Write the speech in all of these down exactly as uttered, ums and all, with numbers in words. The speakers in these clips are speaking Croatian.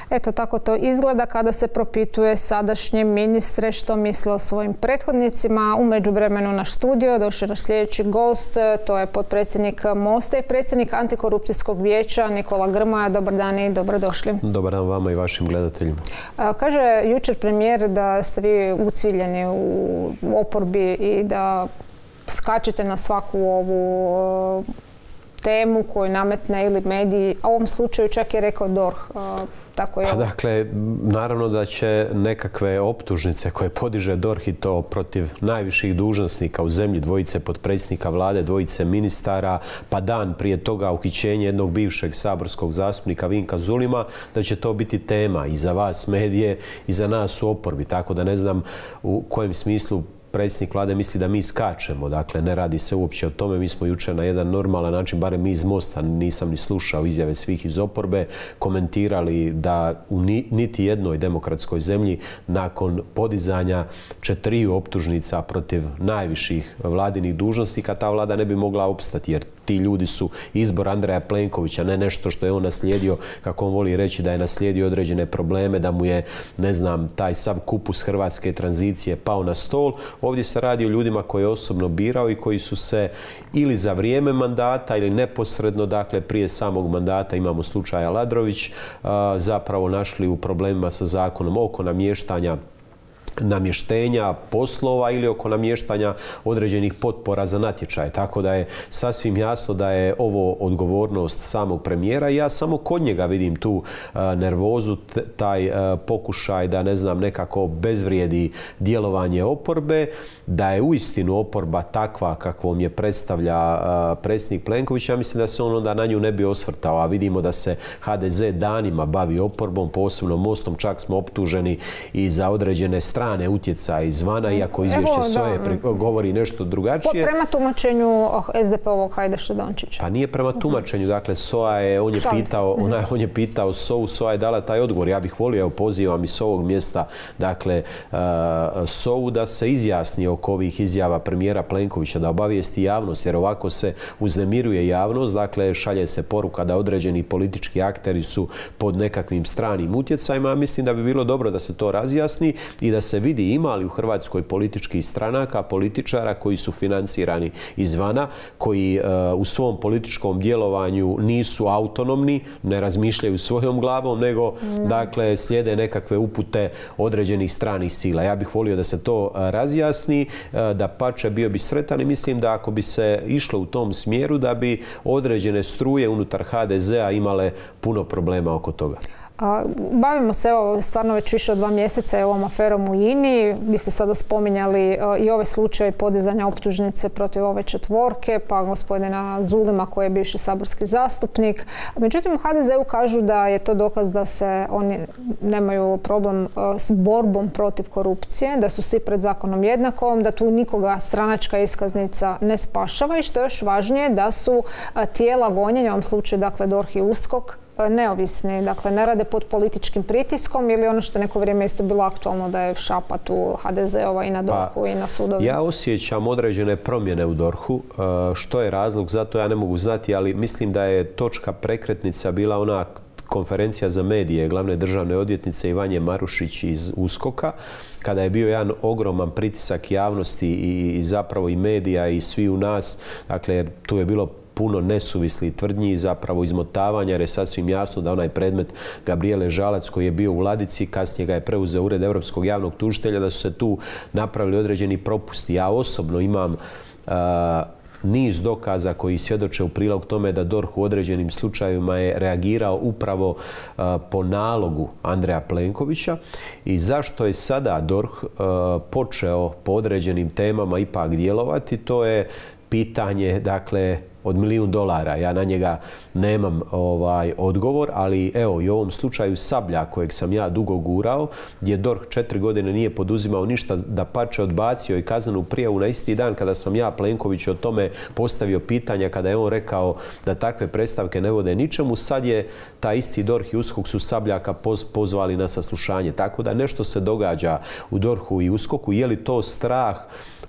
Eto, tako to izgleda kada se propituje sadašnje ministre što misle o svojim prethodnicima. U međuvremenu naš studio došao naš sljedeći gost, to je potpredsjednik Mosta i predsjednik Antikorupcijskog vijeća Nikola Grmoja. Dobar dan i dobrodošli. Dobar dan vama i vašim gledateljima. Kaže jučer premijer da ste vi uciljeni u oporbi i da skačete na svaku ovu temu koju nametne ili mediji, a u ovom slučaju čak je rekao D O R H. Tako je. Pa dakle, naravno da će nekakve optužnice koje podiže D O R H i to protiv najviših dužnosnika u zemlji, dvojice potpredsjednika vlade, dvojice ministara, pa dan prije toga uhićenje jednog bivšeg saborskog zastupnika Vinka Zulima, da će to biti tema i za vas medije i za nas u oporbi. Tako da ne znam u kojem smislu predsjednik vlade misli da mi skačemo. Dakle, ne radi se uopće o tome. Mi smo jučer na jedan normalan način, barem mi iz Mosta, nisam ni slušao izjave svih iz oporbe, komentirali da u niti jednoj demokratskoj zemlji nakon podizanja četiriju optužnica protiv najviših vladinih dužnosnika ta vlada ne bi mogla opstati, jer ti ljudi su izbor Andreja Plenkovića, ne nešto što je on naslijedio, kako on voli reći, da je naslijedio određene probleme, da mu je, ne znam, taj sav kupus hrvatske tranzicije pao na stol. Ovdje se radi o ljudima koje je osobno birao i koji su se ili za vrijeme mandata ili neposredno, dakle prije samog mandata, imamo slučaj Aladrović, zapravo našli u problemima sa zakonom oko namještanja namještenja poslova ili oko namještanja određenih potpora za natječaje. Tako da je sasvim jasno da je ovo odgovornost samog premijera i ja samo kod njega vidim tu nervozu, taj pokušaj da, ne znam, nekako bezvrijedi djelovanje oporbe, da je uistinu oporba takva kakvom je predstavlja predsjednik Plenković. Ja mislim da se on onda na nju ne bi osvrtao, a vidimo da se H D Z danima bavi oporbom, posebno Mostom, čak smo optuženi i za određene strane utjecaje izvana, iako izvješće S O E govori nešto drugačije. Prema tumačenju S D P-ovog Hajdaša Dončića. Pa nije prema tumačenju. Dakle, S O A je, on je pitao, on je pitao S O U, S O A je dala taj odgovor. Ja bih volio, evo, pozivam i s ovog mjesta, dakle, S O U da se izjasni oko ovih izjava premijera Plenkovića, da obavijesti javnost, jer ovako se uznemiruje javnost, dakle, šalje se poruka da određeni politički akteri su pod nekakvim stranim utjecajima. Mislim da bi bilo dobro da se to razjasni i da se vidi ima li u Hrvatskoj političkih stranaka, političara koji su financirani izvana, koji uh, u svom političkom djelovanju nisu autonomni, ne razmišljaju svojom glavom, nego mm. dakle slijede nekakve upute određenih stranih sila. Ja bih volio da se to uh, razjasni, uh, da pače bio bi sretan i mislim da ako bi se išlo u tom smjeru da bi određene struje unutar H D Z-a imale puno problema oko toga. Bavimo se evo stvarno već više od dva mjeseca ovom aferom u I N I. Vi ste sada spominjali i ovaj slučaj podizanja optužnice protiv ove četvorke, pa gospodina Zulima koji je bivši saborski zastupnik. Međutim, u H D Z-u kažu da je to dokaz da se oni nemaju problem s borbom protiv korupcije, da su svi pred zakonom jednakom, da tu nikoga stranačka iskaznica ne spašava i što je još važnije da su tijela gonjenja, u ovom slučaju dakle D O R H i U S K O K, neovisni, dakle ne rade pod političkim pritiskom ili ono što neko vrijeme isto bilo aktualno da je šapat u H D Z-ova i na D O R H-u i na sudovi. Ja osjećam određene promjene u D O R H-u. Što je razlog za to ja ne mogu znati, ali mislim da je točka prekretnica bila ona konferencija za medije glavne državne odvjetnice Ivanje Marušić iz U S K O K-a, kada je bio jedan ogroman pritisak javnosti i zapravo i medija i svi u nas. Dakle, tu je bilo puno nesuvislih tvrdnji i zapravo izmotavanja, jer je sasvim jasno da onaj predmet Gabrijele Žalac koji je bio u ladici, kasnije ga je preuzeo Ured Europskog javnog tužitelja, da su se tu napravili određeni propusti. Ja osobno imam uh, niz dokaza koji svjedoče u prilog tome da D O R H u određenim slučajevima je reagirao upravo uh, po nalogu Andreja Plenkovića. I zašto je sada D O R H uh, počeo po određenim temama ipak djelovati, to je pitanje, dakle, od milijun dolara. Ja na njega nemam ovaj odgovor, ali evo i u ovom slučaju Sablja kojeg sam ja dugo gurao, gdje D O R H četiri godine nije poduzimao ništa, da pače odbacio i kaznenu prijavu na isti dan kada sam ja Plenkoviću o tome postavio pitanja, kada je on rekao da takve predstavke ne vode ničemu. Sad je taj isti D O R H i U S K O K su Sabljaka pozvali na saslušanje. Tako da nešto se događa u D O R H-u i U S K O K-u. Je li to strah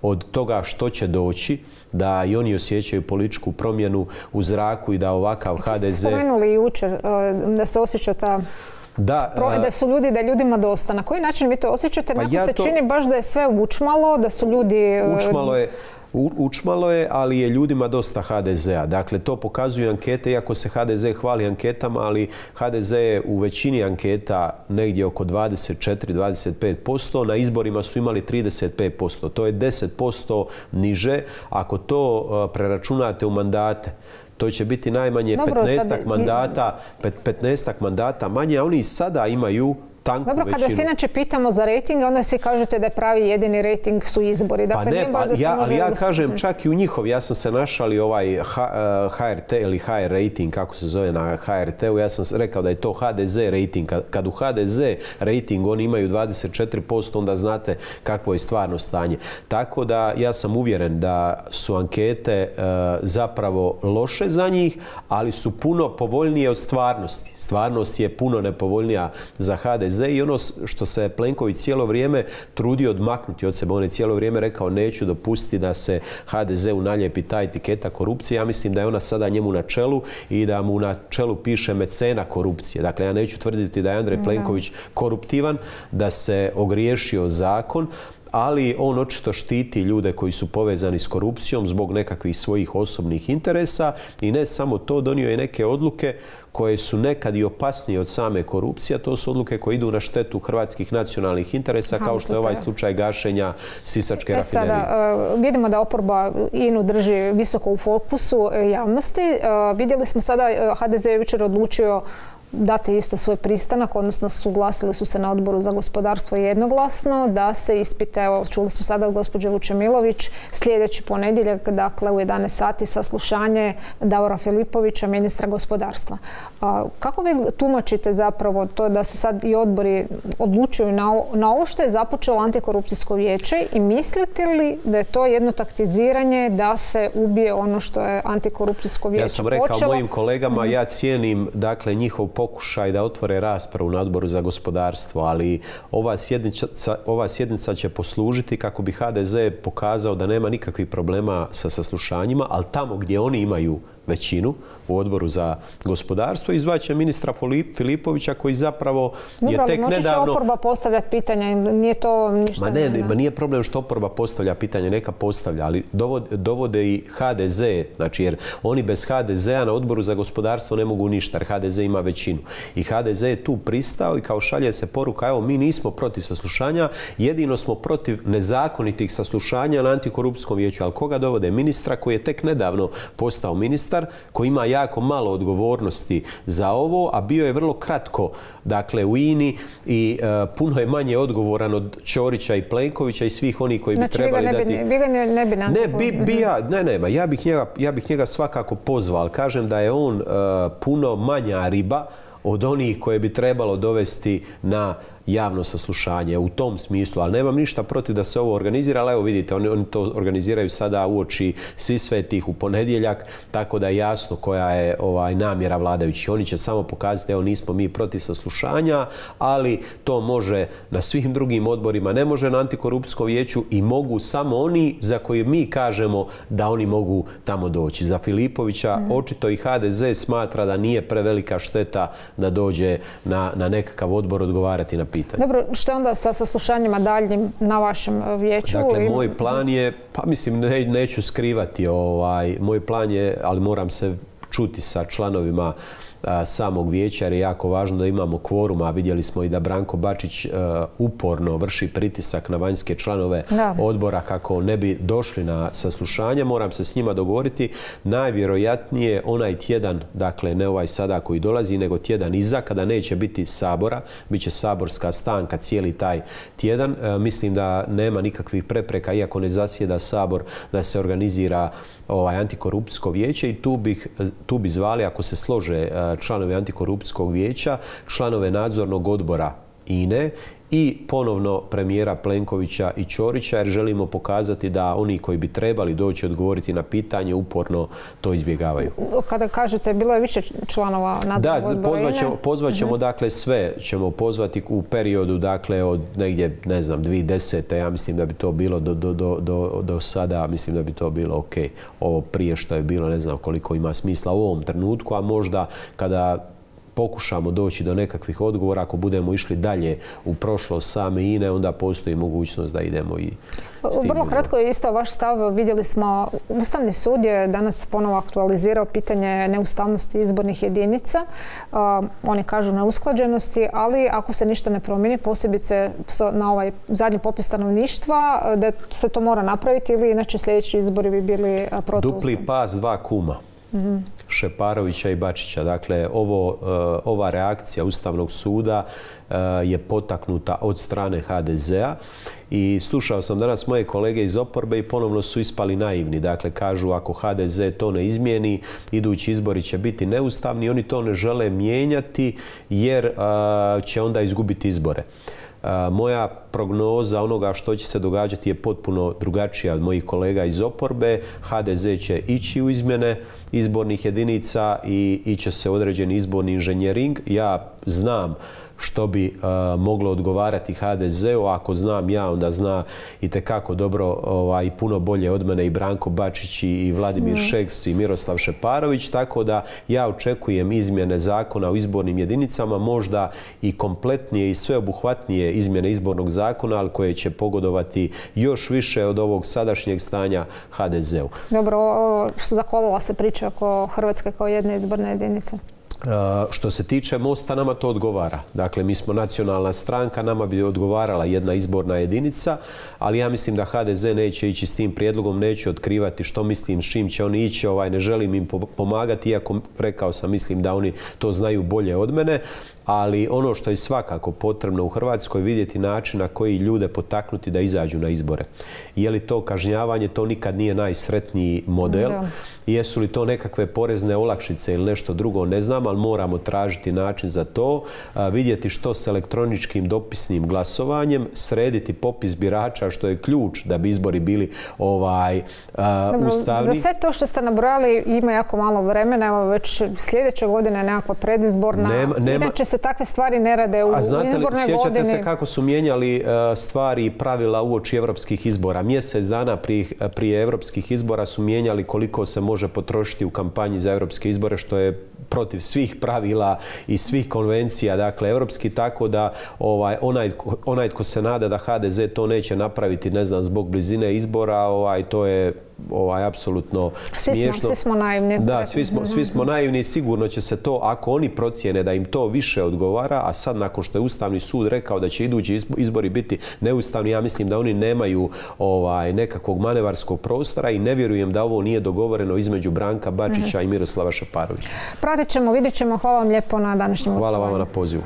od toga što će doći, da i oni osjećaju političku promjenu u zraku i da ovakav H D Z... Spomenuli jučer da se osjeća ta Da, da su ljudi, da je ljudima dosta. Na koji način vi to osjećate? Pa ja se to... čini baš da je sve učmalo, da su ljudi... Učmalo je. Učmalo je, ali je ljudima dosta ha de zea. Dakle, to pokazuju ankete, iako se ha de ze hvali anketama, ali ha de ze je u većini anketa negdje oko dvadeset četiri do dvadeset pet posto. Na izborima su imali trideset pet posto. To je deset posto niže. Ako to preračunate u mandate, to će biti najmanje petnaestak mandata, petnaestak mandata manje, a oni sada imaju tanku Dobro, većinu. kada se inače pitamo za rejting, onda svi kažete da je pravi jedini rejting su izbori. Dakle, pa ne, pa ja, ali ja kažem čak i u njihov, ja sam se našali ovaj ha er te ili ha er rejting, kako se zove na ha er te u, ja sam rekao da je to ha de ze rejting. Kad, kad u ha de ze rejting oni imaju dvadeset četiri posto, onda znate kakvo je stvarno stanje. Tako da ja sam uvjeren da su ankete uh, zapravo loše za njih, ali su puno povoljnije od stvarnosti. Stvarnost je puno nepovoljnija za ha de ze i ono što se Plenković cijelo vrijeme trudio odmaknuti od sebe. On je cijelo vrijeme rekao neću dopustiti da se ha de zeu naljepi ta etiketa korupcije. Ja mislim da je ona sada njemu na čelu i da mu na čelu piše mecena korupcije. Dakle, ja neću tvrditi da je Andrej Plenković koruptivan, da se ogriješio zakon, ali on očito štiti ljude koji su povezani s korupcijom zbog nekakvih svojih osobnih interesa i ne samo to, donio je neke odluke koje su nekad i opasnije od same korupcije, a to su odluke koje idu na štetu hrvatskih nacionalnih interesa, kao što je ovaj slučaj gašenja Sisačke rafinerije. Sada, vidimo da oporba I N U drži visoko u fokusu javnosti. Vidjeli smo sada, ha de ze je jučer odlučio dati isto svoj pristanak, odnosno suglasili su se na Odboru za gospodarstvo jednoglasno da se ispita, evo čuli smo sada od gospođe Vučemilović, sljedeći ponedjeljak, dakle u jedanaest sati saslušanje Davora Filipovića, ministra gospodarstva. Kako vi tumačite zapravo to da se sad i odbori odlučuju na ovo što je započelo antikorupcijsko vijeće i mislite li da je to jedno taktiziranje da se ubije ono što je antikorupcijsko vijeće počelo? Ja sam rekao mojim kolegama, ja cijenim dakle njihov pokušaj da otvore raspravu na Odboru za gospodarstvo, ali ova sjednica, ova sjednica će poslužiti kako bi ha de ze pokazao da nema nikakvih problema sa saslušanjima, ali tamo gdje oni imaju većinu u Odboru za gospodarstvo izvaće ministra Filipovića koji zapravo je Dobro, tek nedavno... nedavno... Dobro, oporba postavljati pitanja, nije to ništa... Ma ne, ne, ma nije problem što oporba postavlja pitanje, neka postavlja, ali dovode, dovode i ha de ze, znači jer oni bez ha de zea na Odboru za gospodarstvo ne mogu ništa, jer ha de ze ima većinu. I ha de ze je tu pristao i kao šalje se poruka, evo mi nismo protiv saslušanja, jedino smo protiv nezakonitih saslušanja na antikorupcijskom vijeću. Ali koga dovode? Ministra koji je tek nedavno postao ministar, koji ima jako malo odgovornosti za ovo, a bio je vrlo kratko dakle u I N I i uh, puno je manje odgovoran od Ćorića i Plenkovića i svih onih koji znači, bi trebali ne dati... Znači vi ga ne, ne bi Ne, bi, bi ja, ne, ne, ma ja bih njega, ja bih njega svakako pozvao, ali kažem da je on uh, puno manja riba od onih koje bi trebalo dovesti na javno saslušanje u tom smislu, ali nemam ništa protiv da se ovo organizira, ali evo vidite, oni, oni to organiziraju sada uoči Svisvetih u ponedjeljak, tako da je jasno koja je ovaj, namjera vladajućih. Oni će samo pokazati, evo nismo mi protiv saslušanja, ali to može na svim drugim odborima, ne može na antikorupcijskom vijeću i mogu samo oni za koje mi kažemo da oni mogu tamo doći. Za Filipovića mm. očito i ha de ze smatra da nije prevelika šteta da dođe na, na nekakav odbor odgovarati na pitanje. Dobro, što je onda sa saslušanjima daljnjim na vašem vijeću? Dakle, moj plan je, pa mislim, ne, neću skrivati, ovaj, moj plan je, ali moram se čuti sa članovima a, samog vijeća, jer je jako važno da imamo kvorum, a vidjeli smo i da Branko Bačić a, uporno vrši pritisak na vanjske članove da. odbora kako ne bi došli na saslušanje. Moram se s njima dogovoriti. Najvjerojatnije onaj tjedan, dakle ne ovaj sada koji dolazi, nego tjedan iza, kada neće biti sabora, bit će saborska stanka cijeli taj tjedan. E, mislim da nema nikakvih prepreka, iako ne zasjeda sabor, da se organizira ovaj antikorupcijsko vijeće i tu bih, tu bi zvali, ako se slože članovi antikorupcijskog vijeća, članove nadzornog odbora I N E i ponovno premijera Plenkovića i Ćorića, jer želimo pokazati da oni koji bi trebali doći odgovoriti na pitanje uporno to izbjegavaju. Kada kažete, bilo je više članova nadzornog odbora? Da, pozvat ćemo, pozvat ćemo dakle sve, ćemo pozvati u periodu dakle od negdje, ne znam, dvije tisuće desete. Ja mislim da bi to bilo do, do, do, do, do sada, mislim da bi to bilo ok. Ovo prije što je bilo, ne znam koliko ima smisla u ovom trenutku, a možda kada pokušamo doći do nekakvih odgovora. Ako budemo išli dalje u prošlost same I N E, onda postoji mogućnost da idemo i s tim. Vrlo kratko je isto vaš stav. Vidjeli smo, Ustavni sud je danas ponovo aktualizirao pitanje neustavnosti izbornih jedinica. Uh, oni kažu neusklađenosti, ali ako se ništa ne promijeni, posebice na ovaj zadnji popis stanovništva, da se to mora napraviti ili inače sljedeći izbori bi bili protuustavni. Dupli pas, dva kuma. Mm-hmm. Šeparovića i Bačića. Dakle, ovo, ova reakcija Ustavnog suda je potaknuta od strane H D Z-a i slušao sam danas moje kolege iz oporbe i ponovno su ispali naivni. Dakle, kažu ako H D Z to ne izmijeni, idući izbori će biti neustavni. Oni to ne žele mijenjati jer će onda izgubiti izbore. Moja prognoza onoga što će se događati je potpuno drugačija od mojih kolega iz oporbe. H D Z će ići u izmjene izbornih jedinica i iće se određeni izborni inženjering. Ja znam što bi uh, moglo odgovarati H D Z-u. Ako znam ja, onda zna i tekako dobro ovaj, puno bolje od mene i Branko Bačić i Vladimir mm. Šeks i Miroslav Šeparović. Tako da ja očekujem izmjene zakona o izbornim jedinicama, možda i kompletnije i sveobuhvatnije izmjene izbornog zakona, ali koje će pogodovati još više od ovog sadašnjeg stanja H D Z-u. Dobro, zakolila se priča oko Hrvatske kao jedne izborne jedinice. Uh, što se tiče Mosta, nama to odgovara. Dakle, mi smo nacionalna stranka, nama bi odgovarala jedna izborna jedinica, ali ja mislim da H D Z neće ići s tim prijedlogom, neću otkrivati što mislim, s čim će oni ići, ovaj, ne želim im pomagati, iako rekao sam, mislim da oni to znaju bolje od mene, ali ono što je svakako potrebno u Hrvatskoj vidjeti način na koji ljude potaknuti da izađu na izbore. Je li to kažnjavanje, to nikad nije najsretniji model. Da. Jesu li to nekakve porezne olakšice ili nešto drugo, ne znam, ali moramo tražiti način za to, a, vidjeti što s elektroničkim dopisnim glasovanjem, srediti popis birača, što je ključ da bi izbori bili ovaj, a, Dobro, ustavni. Za sve to što ste nabrojali ima jako malo vremena, evo već sljedeće godine je nekakva predizborna. Nema, nema, Inače se takve stvari ne rade u izbornoj godini. A znate li, sjećate se kako su mijenjali uh, stvari i pravila uoči evropskih izbora? Mjesec dana prije, prije evropskih izbora su mijenjali koliko se može potrošiti u kampanji za evropske izbore, što je protiv svih pravila i svih konvencija, dakle, evropski, tako da ovaj, onaj, onaj tko se nada da H D Z to neće napraviti, ne znam, zbog blizine izbora, ovaj, to je ovaj, apsolutno smiješno. Svi smo, svi smo naivni. Da, svi smo, svi smo naivni i sigurno će se to, ako oni procijene da im to više odgovara, a sad nakon što je Ustavni sud rekao da će idući izbori biti neustavni, ja mislim da oni nemaju ovaj, nekakvog manevarskog prostora i ne vjerujem da ovo nije dogovoreno između Branka Bačića mm-hmm. i Miroslava Šeparovića. Pratit ćemo, vidjet ćemo. Hvala vam lijepo na današnjem gostovanju. Hvala vama na pozivu.